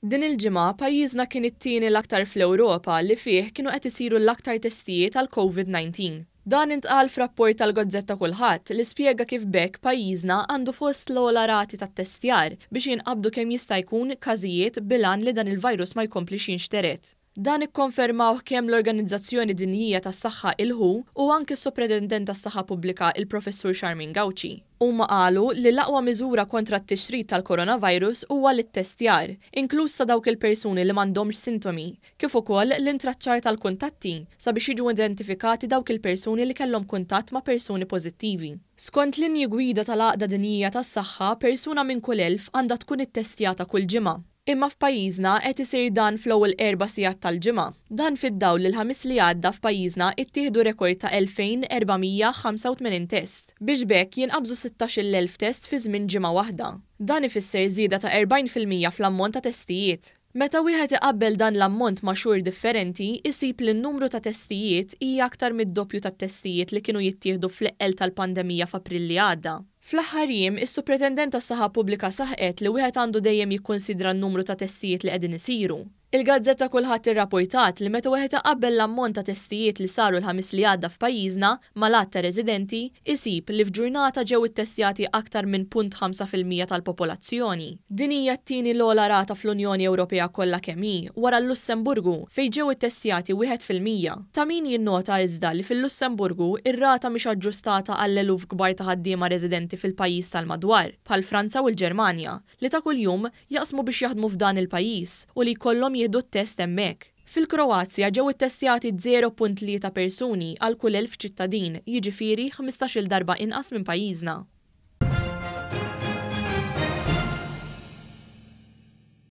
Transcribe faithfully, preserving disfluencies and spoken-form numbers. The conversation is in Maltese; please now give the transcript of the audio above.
Din il-ġimgħa pajjiżna kien it-tieni l-aktar fl-Ewropa li fih kienu qed isiru l-aktar testijiet għal Covid nineteen. Dan intqal f'rapport tal-Gazzetta Kulħadd li spjega kif b'hekk pajjiżna għandu fost l-ogħla rati tat-testjar biex jinqabdu kemm jista' jkun każijiet bil-għan li dan il-virus ma jkomplix jinxtered. Dan ikkonfermawh kemm l-Organizzazzjoni Dinjija tas-Saħħa il-W H O u anke s-Soprintendent tas-Saħħa Pubblika il-Professur Charmaine Gauci. Huma qalu li l-aqwa miżura kontra t-tixrid tal-coronavirus huwa l-ittestjar, inkluż ta' dawk il-persuni li m'għandhomx sintomi, kif ukoll l-intraċċar tal-kuntatti sabiex jiġu identifikati dawk il-persuni li kellhom kuntatt ma' persuni pożittivi. Skont linji gwida tal-Għaqda Dinjija tas-Saħħa, persuna minn kull elf għandha tkun ittestjata kull ġimgħa. Imma f'pajjiżna qed isir dan fl-ewwel erba' sigħat tal-ġimgħa. Dan fid-dawl li l-Ħamis li għadda f'pajjiżna ittieħdu rekord ta' elfejn erba' mija ħamsa u tmenin test, biex b'hekk jinqabżu sittax-il elf test fi żmien ġimgħa waħda. Dan ifisser żieda ta' erbgħin fil-mija fl-ammont ta' testijiet. Meta wieħed iqabbel dan l-ammont ma' xhur differenti, isib li n-numru ta' testijiet hija aktar mid-doppju tat-testijiet li kienu jittieħdu fl-eqqel tal-pandemija f'April li għadda. Fl-aħħar jiem, is-Supretendent tas-Saħħa Pubblika saħqet li wieħed għandu dejjem jikkonsidra n-numru ta' testijiet li qegħdin isiru. Il-Gazzetta Kulħadd irrapportat li meta wieħed iqabbel l-ammont ta' testijiet li saru l-Ħamis li għadda f'pajjiżna mal-għadd ta' residenti, isib li f'ġurnata ġew ittestjati aktar minn punt ħamsa fil-mija tal-popolazzjoni. Din hija t-tieni l-ogħla rata fl-Unjoni Ewropea kollha kemm hi, wara l-Lussemburgu, fejn ġew ittestjati wieħed fil-mija. Ta' min jinnota iżda li fil-Lussemburgu ir-rata mhix aġġustata għall-eluf kbar ta' ħaddiema residenti fil-pajjiż tal-madwar, bħal Franza u l-Ġermanja, li ta' kuljum jaqsmu biex jaħdmu f'dan il-pajjiż u li jkollhom jieħdu t-test hemmhekk. Fil-Kroazja ġew ittestjati zero punt tlieta persuni għal kull elf ċittadin, jiġifieri ħmistax-il darba inqas minn pajjiżna.